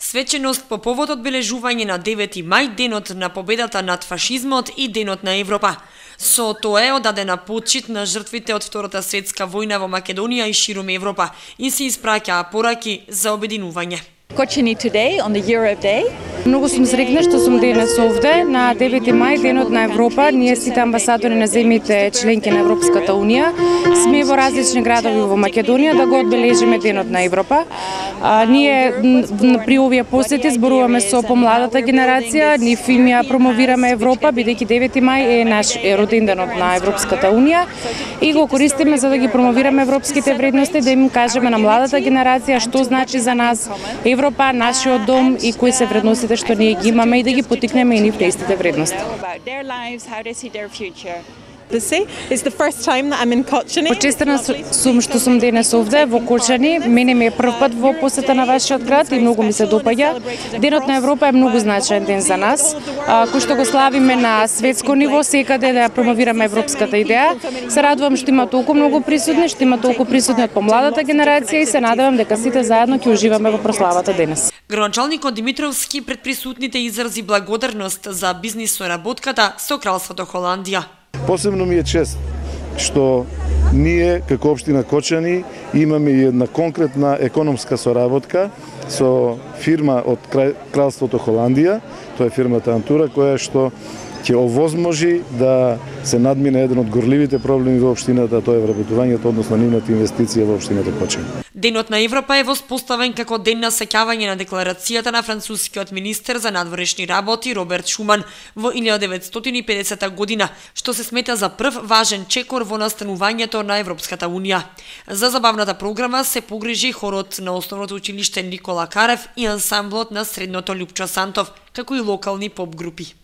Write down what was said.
Свеченост по повод одбележување на 9 мај, денот на победата над фашизмот и денот на Европа. Со тоа е одадена почит на жртвите од Втората светска војна во Македонија и ширум Европа и се испраќаа пораки за обединување. Kočani today on the Europe Day. Многу сум среќна што сум денес овде на 9 мај, денот на Европа. Ние сите амбасадори на земјите членки на Европската унија сме во различни градови во Македонија да го одбележиме денот на Европа. Ние при овие посети зборуваме со помладата генерација, нив им ја промовираме Европа, бидејќи 9 мај е роден денот на Европската унија и го користиме за да ги промовираме европските вредности, да им кажеме на младата генерација што значи за нас Европа, нашиот дом и кои се вредностите што ние ги имаме и да ги потикнеме и нив истите вредности. Почестена сум што сум денес овде во Кочани. Мене ми е прв пат во посета на вашиот град и многу ми се допаѓа. Денот на Европа е многу значаен ден за нас, кој што го славиме на светско ниво, секаде да ја промовираме европската идеја. Се радувам што има толку многу присутни, што има толку присутни од помладата генерација и се надевам дека сите заедно ќе уживаме во прославата денес. Градоначалникот Димитровски пред присутните изрази благодарност за бизнис соработката со Кралството Холандија. Посебно ми е чест што ние како општина Кочани имаме и една конкретна економска соработка со фирма од Кралството Холандија, тоа е фирмата Антура, која што ќе овозможи да се надмине еден од горливите проблеми во општината, тоа е вработувањето, односно нивната инвестиција во општината Кочани. Денот на Европа е воспоставен како ден на сеќавање на декларацијата на францускиот министер за надворешни работи Роберт Шуман во 1950 година, што се смета за прв важен чекор во настанувањето на Европската унија. За забавната програма се погрижи хорот на основното училиште Никола Карев и ансамблот на средното Лјупчо Сантов, како и локални поп групи.